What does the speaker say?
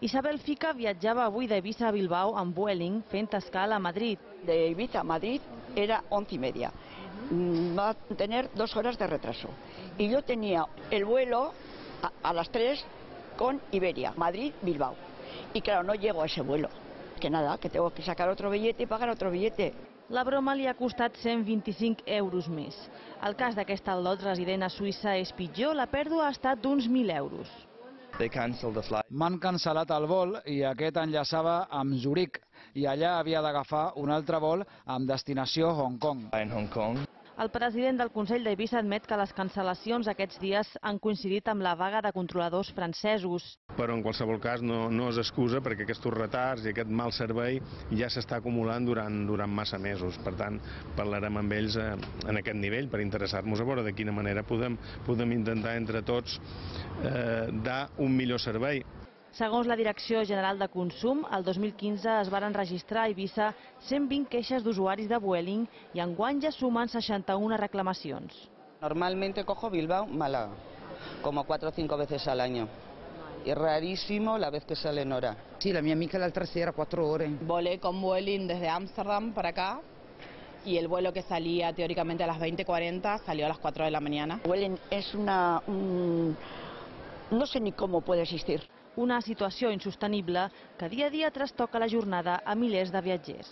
Isabel Fica viatjava avui d'Eivissa a Bilbao amb Vueling fent escala a Madrid. De Ibiza a Madrid era 11:30. Va a tener 2 horas de retraso. Y yo tenía el vuelo a las 3 con Iberia, Madrid-Bilbao. Y claro, no llego a ese vuelo. Que nada, que tengo que sacar otro billete y pagar otro billete. La broma li ha costat 125 euros més. El cas d'aquest al·lot resident a Suïssa és pitjor, la pèrdua ha estat d'uns 1.000 euros. M'han cancel·lat el vol i aquest enllaçava amb Zuric i allà havia d'agafar un altre vol amb destinació Hong Kong. El president del Consell d'Eivissa admet que les cancel·lacions aquests dies han coincidit amb la vaga de controladors francesos. Però en qualsevol cas no és excusa perquè aquests retards i aquest mal servei ja s'està acumulant durant massa mesos. Per tant, parlarem amb ells en aquest nivell per interessar-nos a veure de quina manera podem intentar entre tots dar un millor servei. Segons la Direcció General de Consum, el 2015 es varen registrar a Eivissa 120 queixes d'usuaris de Vueling i enguany ja sumen 61 reclamacions. Normalmente cojo Bilbao-Málaga, como 4 o 5 veces al año. Es rarísimo la vez que sale en hora. Sí, la mía amiga la otra sí era 4 horas. Volé con Vueling desde Ámsterdam para acá y el vuelo que salía teóricamente a las 20:40 salió a las 4 de la mañana. Vueling es no sé ni cómo puede existir. Una situació insostenible que dia a dia trastoca la jornada a milers de viatgers.